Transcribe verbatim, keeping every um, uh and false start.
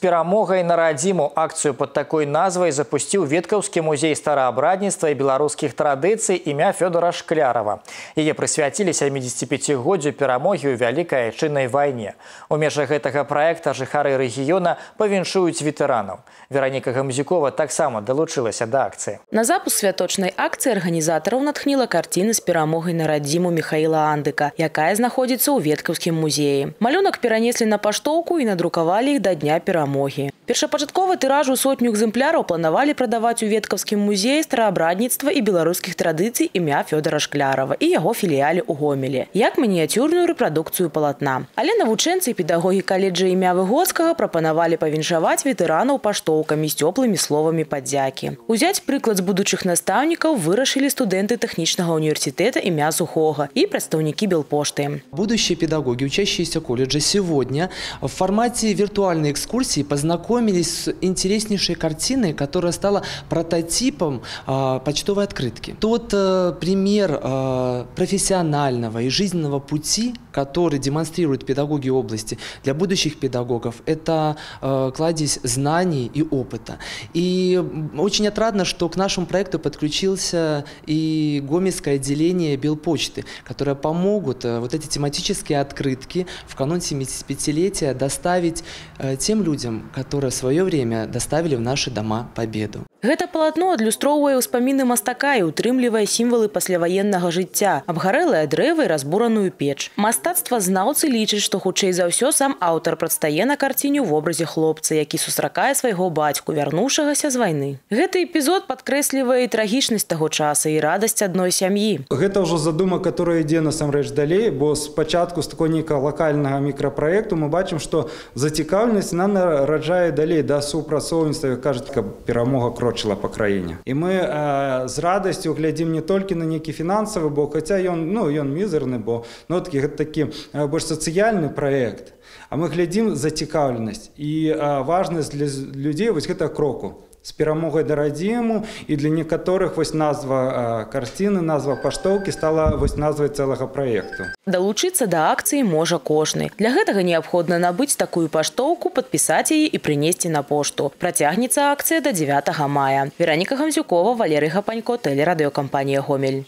перамогай на радзіму. Акцию под такой назвай запустил Веткаўскі музей стараабрадніцтва и белорусских традыцый имя Фёдора Шклярова. Яе прысвяцілі сямідзесяціпяцігоддзю перамогі ў Вялікай Айчыннай вайне. У межах гэтага проекта жыхары рэгіёна павіншуюць ветэранаў. Вераніка Гамзюкова таксама далучылася да акцыі. На запуск святочнай акцыі арганізатараў натхніла карціна з перамогай на радзіму Михаила Андыка, якая знаходзіцца ў Веткаўскім музеі. Малюнак перанеслі на паштоўку і надрукавалі іх да дня перамогі. Першапачатковы тыраж у сотню экземпляраў планавалі прадаваць у Веткаўскім музеі стараабрадніцтва і беларускіх традыцый імя Фёдора Шклярова і яго філіяле ў Гомелі, як мініяцюрную рэпрадукцыю палатна. Але навучэнцы і педагогі каледжа імя Выгодскага прапанавалі павіншаваць ветэранаў паштоўкамі з цёплымі словамі падзякі. Узяць прыклад з будучых настаўнікаў вырашылі студэнты тэхнічнага універсітэта імя Сухога і прадстаўнікі Белпошты. Будущие педагоги, учащиеся колледжа, сегодня в формате виртуальной экскурсии познакомились с интереснейшей картиной, которая стала прототипом э, почтовой открытки. Тот э, пример э, профессионального и жизненного пути, который демонстрируют педагоги области для будущих педагогов, это э, кладезь знаний и опыта. И очень отрадно, что к нашему проекту подключился и Гомельское отделение Белпочты, которые помогут э, вот эти тематические открытки в канун семидесятипятилетия доставить э, тем людям, которые в свое время доставили в наши дома победу. Гэта палатно адлюстроўвае ўспаміны мастака і утрымлівае сімвалы пасляваеннага жыцця, абгарэлае дрэва і разбураную печ. Мастацтвазнаўцы лічаць, што хутчэй за ўсё сам аўтар прадстае на карціне ў вобразе хлопца, які сустракае свайго бацьку, вярнуўшагася з вайны. Гэты эпізод падкрэслівае і трагічнасць таго часа і радасць адной сям'і. Гэта ўжо задума, которая ідзе насамрэч далей, бо спачатку з такой нейкага лакальнага мікрапраекту мы бачым, што зацікаўленасць нам нараджае далей да супрацоўніцтва, кажуць, каб перамога крочыла по краіне. І мы э, з радасцю глядзім не толькі на нейкі фінансавы бок, хаця ён, ну, ён мізерны, бо ну, такі, гэта такі э, больш сацыяльны праект, а мы глядзім зацікаўленасць і э, важнасць для людзей вось гэтага кроку з перамогай да радзіму, і для некаторых вось назва э, карціны, назва паштоўкі стала вось назвай цэлага праекту. Далучыцца да акцыі можа кожны. Для гэтага неабходна набыць такую паштоўку, падпісаць яе і прынесці на пошту. Працягнецца акцыя да дзевятага мая. Вераніка Гамзюкова, Валерый Гапанько, тэлерадыёкампанія Гомель.